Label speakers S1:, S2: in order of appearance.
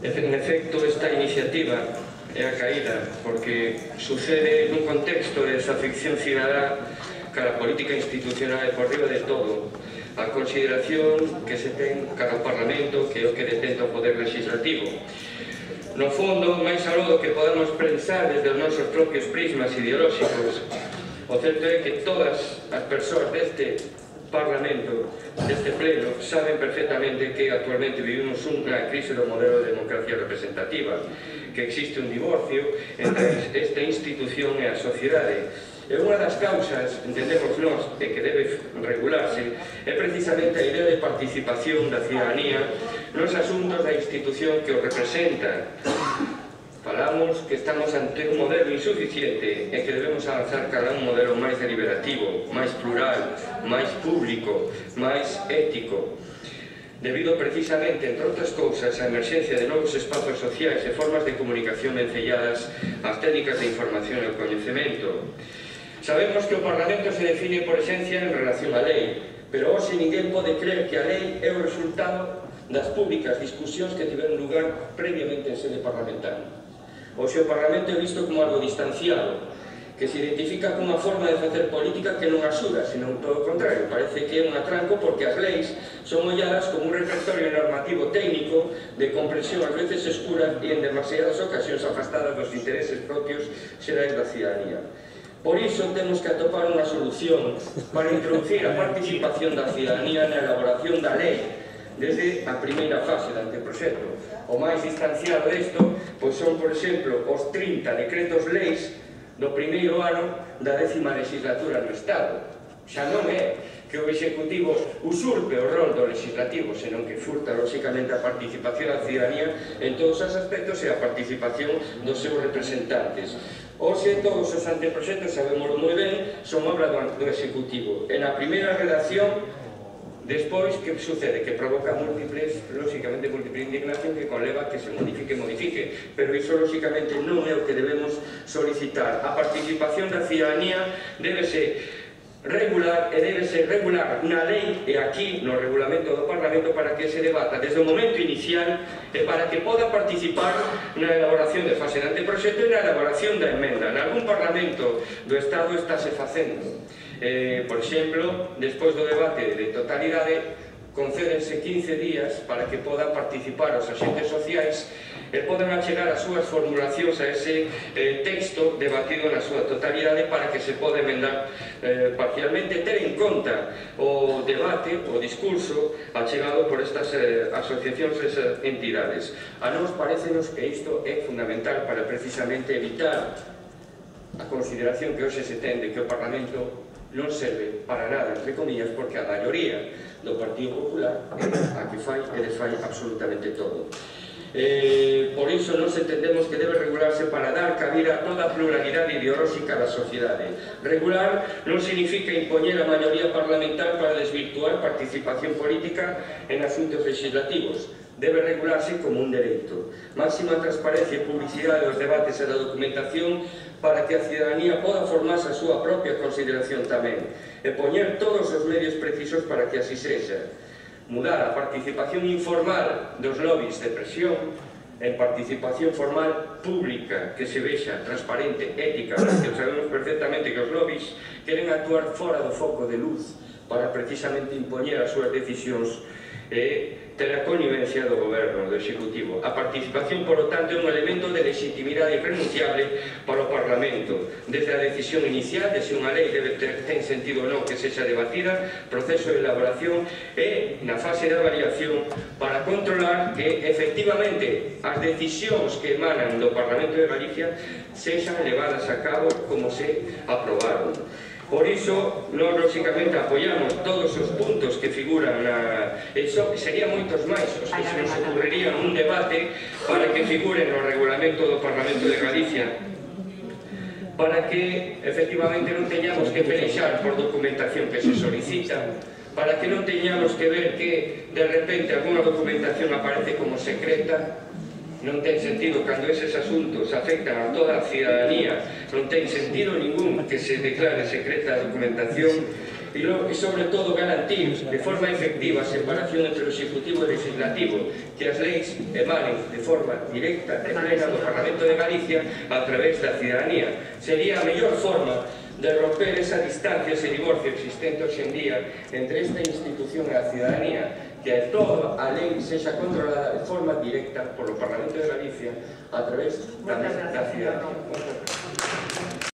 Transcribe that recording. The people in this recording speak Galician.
S1: En efecto, esta iniciativa é a caída porque sucede nun contexto de desafección cidadá cara a política institucional e por riba de todo a consideración que se ten cara ao Parlamento, que é o que detenta o poder legislativo. No fondo, máis aló do que podamos pensar desde os nosos propios prismas ideolóxicos, o certo é que todas as persoas deste Parlamento, deste pleno, saben perfectamente que actualmente vivimos unha crise do modelo de democracia representativa, que existe un divorcio entre esta institución e a sociedade. E unha das causas, entendemos nós, e que debe regularse, é precisamente a idea de participación da cidadanía nos asuntos da institución que o representa. Falamos que estamos ante un modelo insuficiente e que debemos avanzar cara a un modelo máis deliberativo, máis plural, máis público, máis ético. Debido precisamente, entre outras cousas, á emerxencia de novos espazos sociais e formas de comunicación vencelladas ás técnicas de información e o coñecemento. Sabemos que o Parlamento se define por esencia en relación á lei, pero hoxe ninguén pode creer que a lei é o resultado das públicas discusións que tiveron lugar previamente en sede parlamentaria. Hoxe o Parlamento é visto como algo distanciado, que se identifica cunha forma de facer política que non axuda, senón todo o contrario. Parece que é un atranco porque as leis son olladas como un repertorio normativo técnico de comprensión ás veces escura e en demasiadas ocasións afastadas dos intereses propios xerais da cidadanía. Por iso temos que atopar unha solución para introducir a participación da cidadanía na elaboración da lei desde a primeira fase do anteproxecto. O máis distanciado desto pois son, por exemplo, os 30 decretos leis do primeiro ano da 10ª legislatura no Estado. Xa non é que o Executivo usurpe o rol do legislativo, senón que furta, lóxicamente, a participación da cidadanía en todos os aspectos e a participación dos seus representantes. Hoxe, todos os anteproxectos, sabemos moi ben, son obra do Executivo. En a primeira redacción, despois, que sucede? Que provoca múltiples, lóxicamente, múltiple indignación que conleva que se modifique, pero iso, lóxicamente, non é o que debemos solicitar. A participación da cidadanía débese regular e débese regular na lei e aquí no regulamento do Parlamento para que se debata desde o momento inicial e para que poda participar na elaboración de fase de anteproxecto e na elaboración da emenda. En algún Parlamento do Estado estáse facendo. Por exemplo, despois do debate de totalidade, concédense 15 días para que podan participar os agentes sociais e poden achegar as súas formulacións a ese texto debatido na súa totalidade para que se poda emendar parcialmente, ter en conta o debate, o discurso achegado por estas asociacións e esas entidades. A nós parecenos que isto é fundamental para precisamente evitar a consideración que hoxe se ten de que o Parlamento non serve para nada, entre comillas, porque a maioría do Partido Popular é a que fai e desfai absolutamente todo. Por iso nos entendemos que debe regularse para dar cabida a toda a pluralidade ideolóxica da sociedade. Regular non significa impoñer a maioría parlamentar para desvirtuar participación política en asuntos legislativos. Debe regularse como un dereito. Máxima transparencia e publicidade dos debates e da documentación para que a cidadanía poda formarse a súa propia consideración tamén e poñer todos os medios precisos para que así sexa. Mudar a participación informal dos lobbies de presión en participación formal pública que se vexa transparente, ética, porque sabemos perfectamente que os lobbies queren actuar fora do foco de luz para precisamente impoñer as súas decisións e ter a connivencia do goberno, do Executivo. A participación, por lo tanto, é un elemento de legitimidade irrenunciable para o Parlamento. Desde a decisión inicial de se unha lei ten sentido ou non que sexa debatida, proceso de elaboración e na fase de avaliación para controlar que, efectivamente, as decisións que emanan do Parlamento de Galicia sexan levadas a cabo como se aprobaron. Por iso, nós, lóxicamente, apoiamos todos os puntos que figuran na... Iso serían moitos máis os que se nos ocurrirían un debate para que figuren no regulamento do Parlamento de Galicia, para que, efectivamente, non teñamos que pelexar por documentación que se solicita, para que non teñamos que ver que, de repente, alguna documentación aparece como secreta. Non ten sentido cando eses asuntos afectan a toda a cidadanía, non ten sentido ningún que se declare secreta a documentación e sobre todo garantir de forma efectiva a separación entre o Executivo e o Legislativo, que as leis emanen de forma directa e plena do Parlamento de Galicia a través da cidadanía. Sería a mellor forma de romper esa distancia, ese divorcio existente hoxe en día entre esta institución e a cidadanía, que toda a lei sexa controlada de forma directa polo Parlamento de Galicia a través da cidadanía.